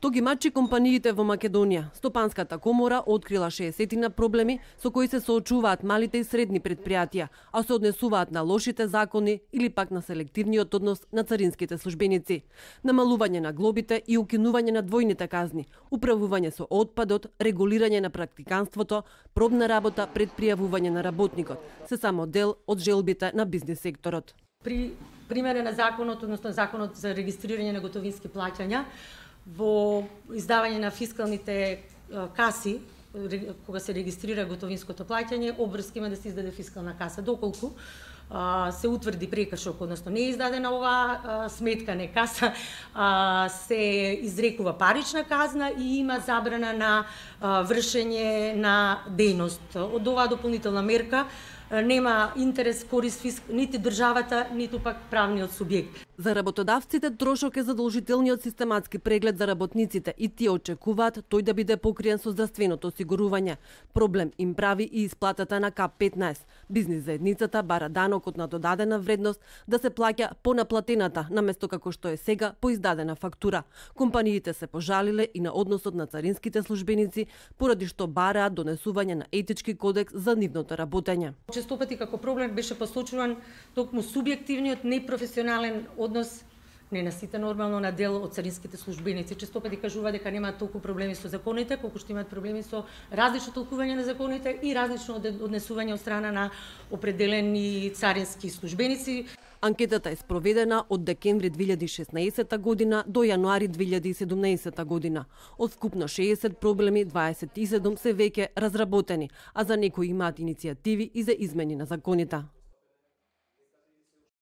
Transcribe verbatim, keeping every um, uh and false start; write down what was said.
Што ги мачи компаниите во Македонија? Стопанската комора открила шеесет проблеми со кои се соочуваат малите и средни предпријатија, а се однесуваат на лошите закони или пак на селективниот однос на царинските службеници. Намалување на глобите и укинување на двојните казни, управување со отпадот, регулирање на практиканството, пробна работа пред пријавување на работникот, се само дел од желбите на бизнис секторот. При примене на законот, односно законот за регистрирање на готовински плаќања, во издавање на фискалните каси, кога се регистрира готовинското плаќање, обврска има да се издаде фискална каса. Доколку се утврди прекршок, односно не е издадена оваа сметка, не каса, се изрекува парична казна и има забрана на вршење на дејност. Од оваа дополнителна мерка нема интерес, корист фиск, нити државата, ниту пак правниот субјект. За работодавците трошок е задолжителниот систематски преглед за работниците и тие очекуваат тој да биде покриен со здравственото осигурување. Проблем им прави и исплатата на К петнаесет. Бизнис заедницата бара данокот на додадена вредност да се плаќа по наплатената, наместо како што е сега по издадена фактура. Компаниите се пожалиле и на односот на царинските службеници, поради што бараат донесување на етички кодекс за нивното работење. Често пати како проблем беше посочуван токму субјективниот непрофесионален однос, не на сите нормално на дел од царинските службеници. Често пати кажува дека немаат толку проблеми со законите, колку што имаат проблеми со различно толкување на законите и различно однесување од страна на определени царински службеници. Анкетата е спроведена од декември две илјади и шеснаесета година до јануари две илјади и седумнаесета година. Од вкупно шеесет проблеми, дваесет и седум се веќе разработени, а за некои имаат иницијативи и за измени на законите.